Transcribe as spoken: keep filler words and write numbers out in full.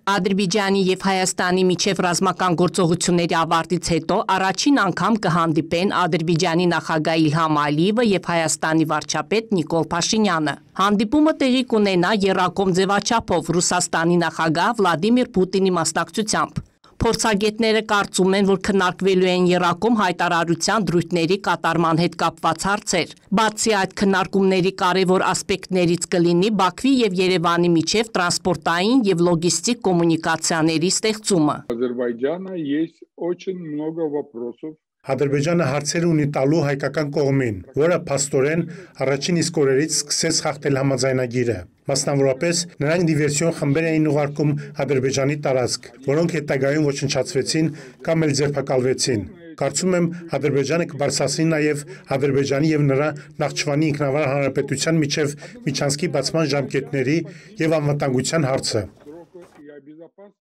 Ադրբեջանի եւ Հայաստանի միջև ռազմական գործողությունների ավարտից հետո առաջին անգամ կհանդիպեն Ադրբեջանի նախագահ Իլհամ Ալիևը եւ Հայաստանի վարչապետ Նիկոլ Փաշինյանը։ Հանդիպումը տեղի կունենա եռակողմ ձևաչափով Ռուսաստանի նախագահ Վլադիմիր Պուտինի մասնակցությամբ։ Փորձագետները կարծում են, որ քննարկվելու են եռակողմ հայտարարության դրույթների կատարման հետ կապված հարցեր։ Բացի այդ քննարկումների կարևոր ասպեկտներից կլինի Բաքվի եւ Երևանի միջև տրանսպորտային եւ լոգիստիկ կոմունիկացիաների ստեղծումը։ Ադրբեջանը есть очень много вопросов. Ադրբեջանը հարցեր ունի տալու հայկական կողմին, որը փաստորեն առաջին իսկ օրերից սկսեց խախտել համաձայնագիրը։ Մասնավորապես, նրանք դիվերսիոն խմբեր էին ուղարկում Ադրբեջանի տարածք, որոնք հետագայում ոչնչացվեցին կամ էլ ձերբակալվեցին։ Կարծում եմ, Ադրբեջանը կբարձրացնի նաև Ադրբեջանի եւ նրա Նախճիվանի ինքնավար հանրապետության միջև միջանցքի բացման ժամկետների եւ անվտանգության հարցը։